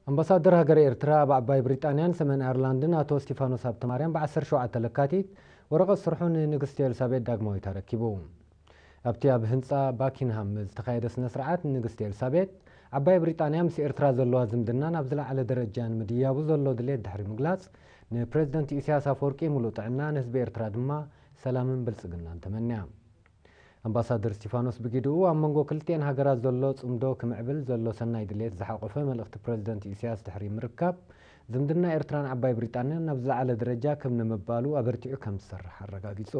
ኣምባሳደር ሃገረ ኤርትራ ኣብ ዓባይ ብሪጣንያን ሰሜን ኣየርላንድን ኣቶ እስቲፋኖስ ሃብተማርያም ብ ዓሰርተ ሸውዓተ ለካቲት ወረቐት ስርሑ ንንግስቲ ኤልሳቤጥ ዳግማዊት ኣረኪቡ። ኣብቲ ኣብ ህንጻ ባኪንሃም ዝተኻየደ ስነ ስርዓት፣ ንንግስቲ ኤልሳቤጥ ዓባይ ብሪጣንያ ምስ ኤርትራ ዘለዋ ዝምድና ናብ ዝለዓለ ደረጃ ንምድያቡ ዘሎ ድሌት ድሕሪ ምግላጽ፣ ንፕሬዝደንት ኢሳያስ ኣፈወርቂ ሙሉእ ጥዕና፣ ንህዝቢ ኤርትራ ድማ ሰላምን ብልጽግናን ተመንያ። ኣምባሳደር እስቲፋኖስ ብጊድኡ፣ ኣብ መንጎ ክልቲኤን ሃገራት ዘሎ ጽምዶ ክምዕብል ዘሎ ሰናይ ድሌት ዝሓቖፈ መልእኽቲ ፕሬዝደንት ኢሳያስ ድሕሪ ምርካብ፣ ዝምድና ኤርትራን ዓባይ ብሪጣንያን ናብ ዝለዓለ ደረጃ ከም ንምባሉ ኣበርቲዑ ከም ዝሰርሕ ኣረጋጊጹ።